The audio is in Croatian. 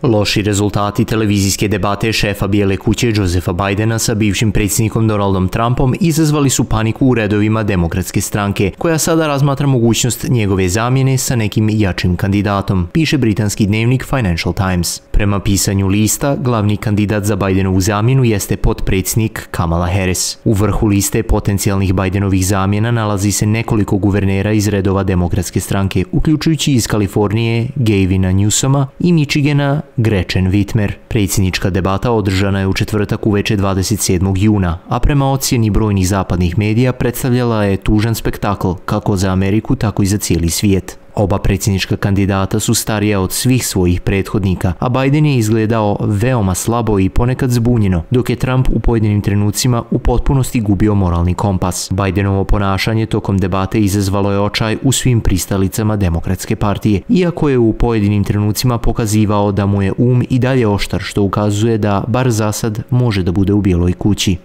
Loši rezultati televizijske debate šefa Bijele kuće Josefa Bidena sa bivšim predsjednikom Donaldom Trumpom izazvali su paniku u redovima Demokratske stranke, koja sada razmatra mogućnost njegove zamjene sa nekim jačim kandidatom, piše britanski dnevnik Financial Times. Prema pisanju lista, glavni kandidat za Bidenovu zamjenu jeste potpredsjednik Kamala Harris. U vrhu liste potencijalnih Bidenovih zamjena nalazi se nekoliko guvernera iz redova Demokratske stranke, uključujući iz Kalifornije Gavina Newsoma i Michigana Gretchen Whitmer. Predsjednička debata održana je u četvrtak uveče 27. juna, a prema ocjeni brojnih zapadnih medija predstavljala je tužan spektakl kako za Ameriku, tako i za cijeli svijet. Oba predsjednička kandidata su starija od svih svojih prethodnika, a Biden je izgledao veoma slabo i ponekad zbunjeno, dok je Trump u pojedinim trenucima u potpunosti gubio moralni kompas. Bidenovo ponašanje tokom debate izazvalo je očaj u svim pristalicama Demokratske partije, iako je u pojedinim trenucima pokazivao da mu je i dalje oštar, što ukazuje da, bar za sad, može da bude u Bijeloj kući.